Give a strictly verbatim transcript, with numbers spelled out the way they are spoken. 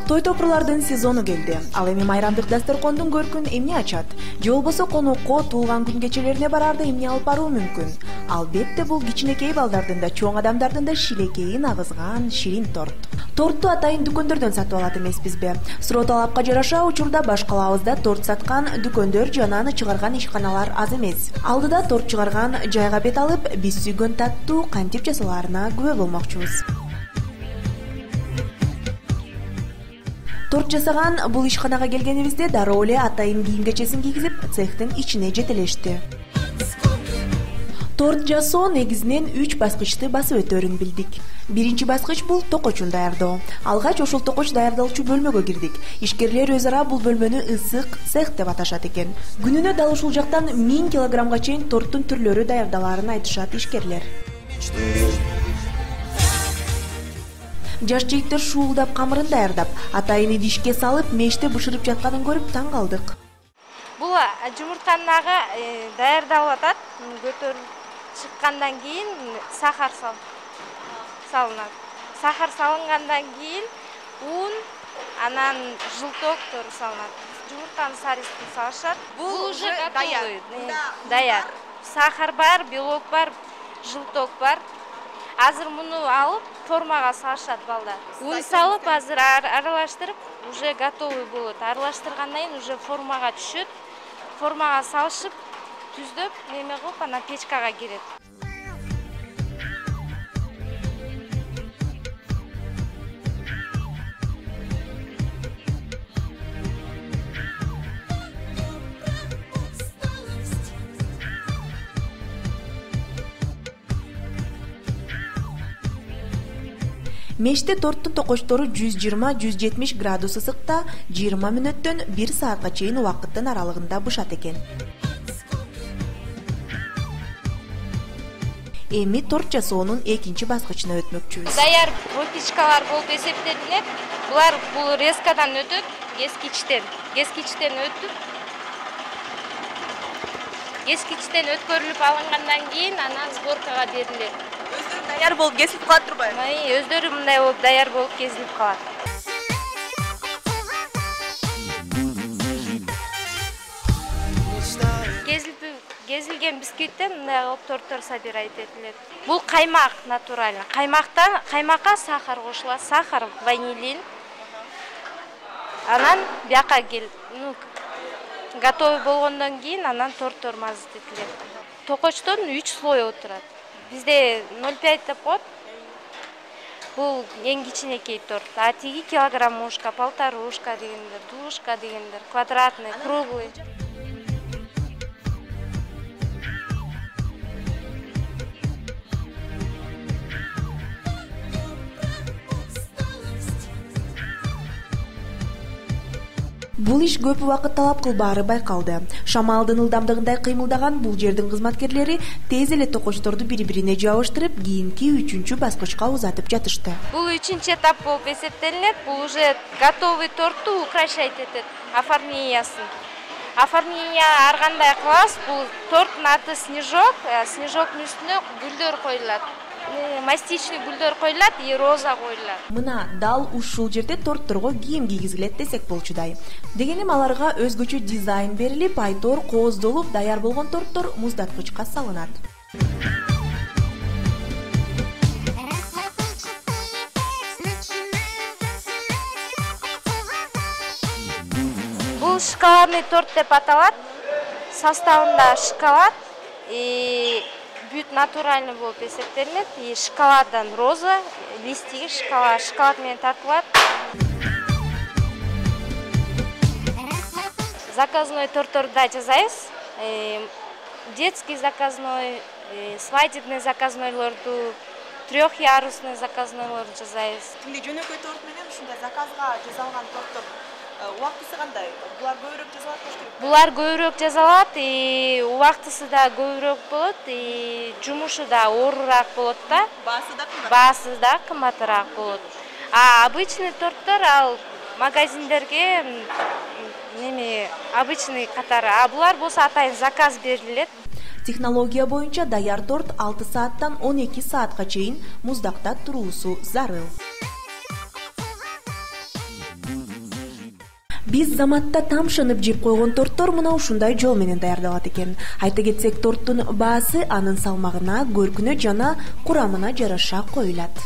Той топурлардын сезону келди. Ал эми майрамдык дасторкондун көркүн эмне ачат? Же болбосо конокко туулган күн кечелерине барарда эмне алып баруу мүмкүн? Албетте бул кичинекей балдардын да, чоң адамдардын да шилекейин агызган ширин торт. Торту атайын дүкөндөрдөн сатып алат эмеспизби? Суроо талапка жараша учурда баш калабызда торт саткан дүкөндөр жана аны чыгарган ишканалар аз эмес. Алдыда торт чыгарган жайга бет алып, биз сүйгөн таттуу кантип жасалаарына күбө болмокчубуз. Торт жасаган бул ишканага келгенибизде дароо эле атайын кийим кечесин кийгизип, цехтин ичине жетелешти. Торт жасоо негизинен үч баскычты басып өтөөрүн билдик. Биринчи баскыч бул токочун даярдоо. Алгач ошол токоч даярдалуучу бөлмөгө кирдик. Ишкерлер өз ара бул бөлмөнү ысык цех деп аташат экен. Күнүнө дал ушул жактан миң килограммга чейин торттун түрлөрү даярдалаарын айтышат ишкерлер. Жаш жигиттер шуулдап камырын даярдап, атайын идишке салып, меште бышырып жатканын көрүп таң калдык. Бул жумуртанын ага даярдалып атат. Көтөрүлүп чыккандан кийин сахар салынат. Сахар салынгандан кийин ун, анан жылтоктор салынат. Жумуртанын сарысын салышат. Бул уже готовый. Даяр. Сахар бар, белок бар, жылток бар. Азыр муну алып формага салышат балдар. Ун салып, азыр аралаштырып, уже готовый болот. Аралаштыргандан кийин уже формага түшөт. Формага салышып, түздөп, неме кылып, анан печкага кирет. Меште торттун токочтору жүз жыйырма — жүз жетимиш градус ысыкта жыйырма мүнөттөн бир саатка чейин убакыттын аралыгында бышат экен. Эми торт жасоонун экинчи баскычына өтмөкчүбүз. Даяр выпечкалар болуп эсептелинет. Булар бул резкадан өтөт, кескичтен. Кескичтен өтүп, кескичтен өткөрүлүп алынгандан кийин анан сборкага берилет. Өздөрү даяр болуп кесилип калат турбайбы? Өздөрү мындай болуп даяр болуп кесилип калат. Кесилген бисквиттен мындай кылып торттор собирать этилет. Бул каймак натуральный. Каймактан каймакка сахар кошулат, сахар, ванилин. Анан бияка кел, ну, готовый болгондон кийин анан торттор мазут этилет. Токочтон үч слой отурат. Бизде ноль пять деп коет. Бул эң кичинекей торт. А тиги килограммушка, полторушка дегендер, душка дегендер, квадратный, круглый. Бул иш көп убакыт талап кылбаары байкалды. Шамалдын ылдамдыгындай кыймылдаган бул жердин кызматкерлери тез эле токочторду бири-бирине жабыштырып, кийинки үчүнчү баскычка узатып жатышты. Бул үчүнчү этап болуп эсептелинет. Бул уже готовый торту украшать этет, оформлениясын. Оформление ар кандай кылабыз. Бул торттун аты снежок, снежоктун үстүнө гүлдөр коюлат. Мастичный гүлдөр коюлат и роза коюлат. Мына дал ушул жерде тортторго кийим кийгизилет десек болчудай. Дегеним аларга өзгөчө дизайн берилип, айтор кооздолуп даяр болгон торттор муздаткычка салынат. Бул шоколадный торт деп аталат. Составында шоколад и бүт натуральный болуп эсептелинет. И шоколаддан роза, листиги шоколад, шоколад менен тартылат. Заказной тортторду да жасайбыз. Детский заказной, свадебный заказнойлорду, трехъярусный заказнойлорду жасайбыз. Кимде жөнөкөй торт менен ушундай заказга жасалган торттор убактысы кандай? Булар көбүрөөк жасалат болуш? Булар көбүрөөк жасалат, и убактысы да көбүрөөк болот, и жумушу да оорураак болот да. Баасы да кымбат. Баасы да кымбатыраак болот. А обычный торттор ал магазиндерге неме обычный катары. А булар болсо атайын заказ берилет. Технология боюнча даяр торт алты сааттан он эки саатка чейин муздакта туруусу зарыл. Биз заматта тамшынып жеп койгон торттор мына ушундай жол менен даярдалат экен. Айта кетсек, торттун баасы анын салмагына, көркүнө жана курамына жараша коюлат.